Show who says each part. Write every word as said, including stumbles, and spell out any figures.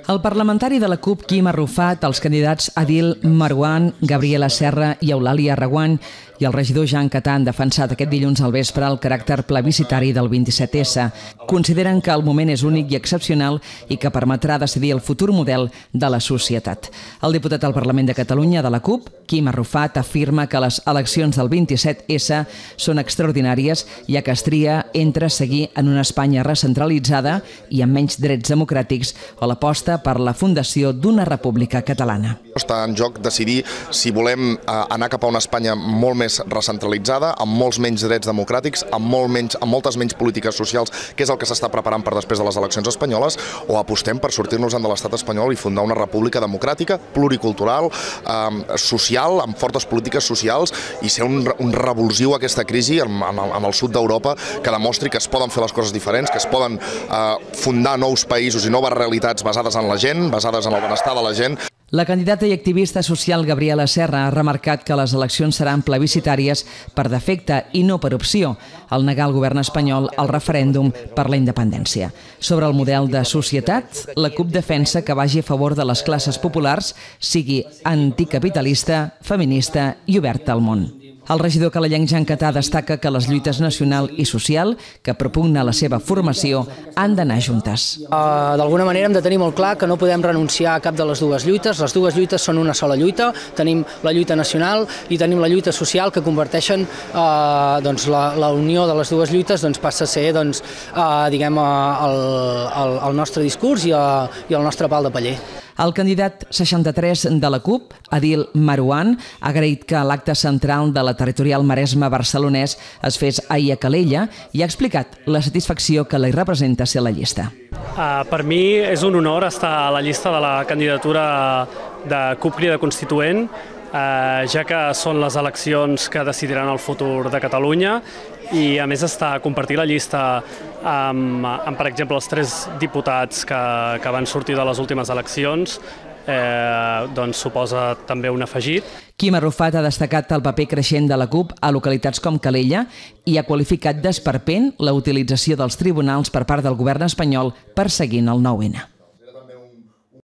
Speaker 1: El parlamentari de la CUP, Quim Arrufat, els candidats Adil Marouane, Gabriela Serra i Eulàlia Reguant i el regidor Jean Catà han defensat aquest dilluns al vespre el caràcter plebiscitari del vint-i-set essa. Consideren que el moment és únic i excepcional i que permetrà decidir el futur model de la societat. El diputat al Parlament de Catalunya de la CUP, Quim Arrufat, afirma que les eleccions del vint-i-set essa són extraordinàries, ja que es tria entre seguir en una Espanya recentralitzada i amb menys drets democràtics o l'aposta per la fundació d'una república catalana.
Speaker 2: Està en joc decidir si volem anar cap a una Espanya molt més recentralitzada, amb molts menys drets democràtics, amb, molt menys, amb moltes menys polítiques socials, que és el que s'està preparant per després de les eleccions espanyoles, o apostem per sortir-nos de l'estat espanyol i fundar una república democràtica, pluricultural, eh, social, amb fortes polítiques socials i ser un, un revulsiu a aquesta crisi en, en, el, en el sud d'Europa que demostri que es poden fer les coses diferents, que es poden eh, fundar nous països i noves realitats basades en la gent, basades en el benestar de la gent.
Speaker 1: La candidata i activista social Gabriela Serra ha remarcat que les eleccions seran plebiscitàries per defecte i no per opció, al negar al govern espanyol el referèndum per la independència. Sobre el model de societat, la CUP defensa que vagi a favor de les classes populars, sigui anticapitalista, feminista i oberta al món. El regidor calellenc Jean Catà destaca que les lluites nacional i social, que propugna la seva formació, han d'anar juntes.
Speaker 3: Uh, D'alguna manera hem de tenir molt clar que no podem renunciar a cap de les dues lluites. Les dues lluites són una sola lluita. Tenim la lluita nacional i tenim la lluita social, que converteixen uh, doncs, la, la unió de les dues lluites doncs, passa a ser doncs, uh, diguem, uh, el, el, el nostre discurs i, uh, i el nostre pal de paller.
Speaker 1: El candidat seixanta-tres de la CUP, Adil Marouane, ha agraït que l'acte central de la territorial Maresme barcelonès es fes ahir a Calella i ha explicat la satisfacció que li representa ser a la llista.
Speaker 4: Uh, per mi és un honor estar a la llista de la candidatura de CUP Crida Constituent, uh, ja que són les eleccions que decidiran el futur de Catalunya i a més està compartir la llista amb, amb per exemple, els tres diputats que, que van sortir de les últimes eleccions, eh, doncs suposa també un afegit.
Speaker 1: Quim Arrufat ha destacat el paper creixent de la CUP a localitats com Calella i ha qualificat d'esperpent la utilització dels tribunals per part del govern espanyol perseguint el nou ene.